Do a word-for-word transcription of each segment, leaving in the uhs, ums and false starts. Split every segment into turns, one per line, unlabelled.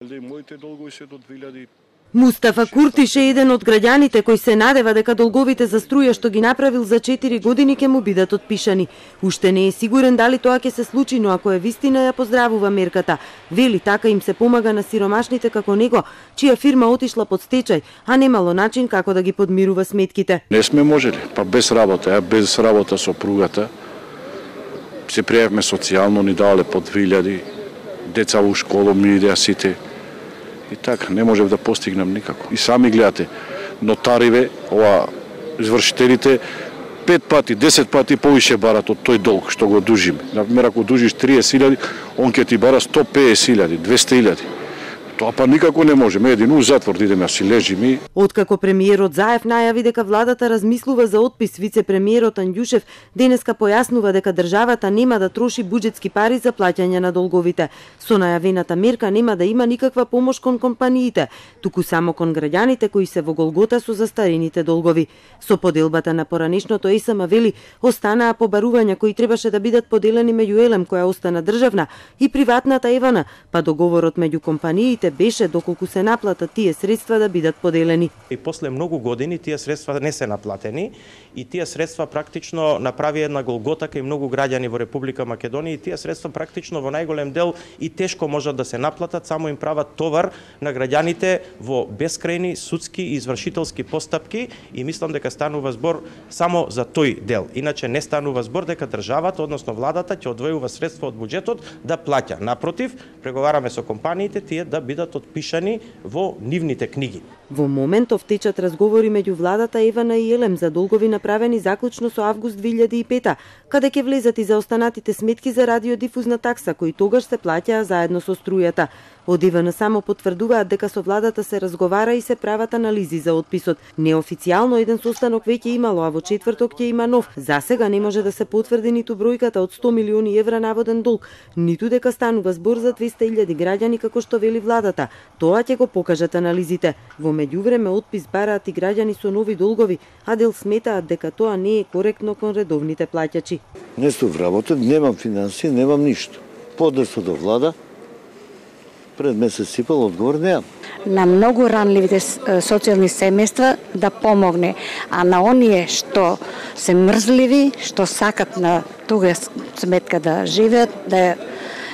Моите долгови се до две илјади.
Мустафа Куртиш е еден од граѓаните кои се надева дека долговите за струја што ги направил за четири години ќе му бидат отпишани. Уште не е сигурен дали тоа ќе се случи, но ако е вистина ја поздравува мерката. Вели така им се помага на сиромашните како него, чија фирма отишла под стечај, а немало начин како да ги подмирува сметките.
Не сме можели, па без работа, ја без работа со пругата. Се пријавме социјално, ни дале по две илјади, деца во школа ми идеа сите. И така, не можев да постигнем никако. И сами гледате, нотариве, ова, извршителите, пет пати, десет пати повише барат од тој долг што го дужиме. Например, ако дужиш триесет илјади, он ќе ти бара сто песет илјади, двесте илјади. Тоа па никако не можеме, един у затвор да идеме, а си лежиме.
Откако премиерот Заев најави дека владата размислува за отпис, вице-премиерот Анѓушев денеска појаснува дека државата нема да троши буџетски пари за плаќање на долговите. Со најавената мерка нема да има никаква помош кон компаниите, туку само кон граѓаните кои се во голгота со застарените долгови. Со поделбата на поранешното ЕСМ вели останаа побарувања кои требаше да бидат поделени меѓу Елем, која остана државна, и приватната Евана, па договорот меѓу компаниите беше доколку се наплатат тие средства да бидат поделени.
И после многу години тие средства не се наплатени и тие средства практично направи една голгота кај многу граѓани во Република Македонија и тие средства практично во најголем дел и тешко можат да се наплатат, само им прават товар на граѓаните во бескрајни судски и извршителски постапки и мислам дека станува збор само за тој дел. Иначе не станува збор дека државата, односно владата ќе одвојува средства од буџетот да плаќа. Напротив, преговараме со компаниите тие да бидат отпишани во нивните книги.
Во моментов течат разговори меѓу владата Евана и Елем за долгови направени заклучно со август две илјади и пета, каде ќе влезат и за останатите сметки за радиодифузна такса, кои тогаш се плаќаа заедно со струјата. Од Евана само потврдуваат дека со владата се разговара и се прават анализи за отписот. Неофицијално еден состанок веќе имало, а во четврток ќе има нов. За сега не може да се потврди ниту бројката од сто милиони евра наводен долг, ниту дека станува збор за двесте илјади граѓани како што вели владата. Тоа ќе го покажат анализите. Во меѓувреме отпис бараат и граѓани со нови долгови, а дел сметаат дека тоа не е коректно кон редовните плаќачи.
Не сум вработен, немам финансии, немам ништо. Поднесо до влада, пред месец сипал одговор неам.
На многу ранливите социјални семејства да помогне, а на оние што се мрзливи, што сакат на туга сметка да живеат, да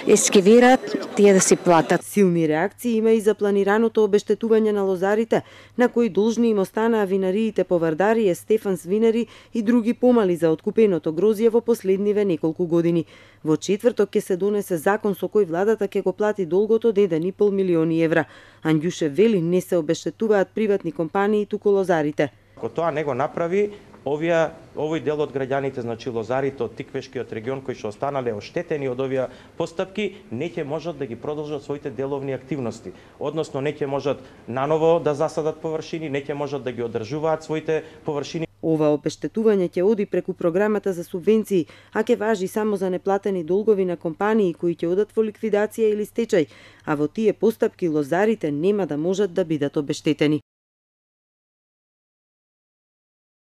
ескивираат, тие да си платат.
Силни реакции има и за планираното обештетување на лозарите, на кои должни им останаа винариите по Вардарие, Стефанс винари и други помали за откупеното грозје во последниве неколку години. Во четврток ќе се донесе закон со кој владата ќе го плати долгот од еден и пол милиони евра. Анѓушев вели не се обештетуваат приватни компании, туку лозарите.
Ако тоа не го направи, овие овој дел од граѓаните, значи лозарите од Тиквешкиот регион кои што останале оштетени од овие постапки, не ќе можат да ги продолжат своите деловни активности. Односно не ќе можат наново да засадат површини, не ќе можат да ги одржуваат своите површини.
Ова обештетување ќе оди преку програмата за субвенции, а ќе важи само за неплатени долгови на компании кои ќе одат во ликвидација или стечај, а во тие постапки лозарите нема да можат да бидат обештетени.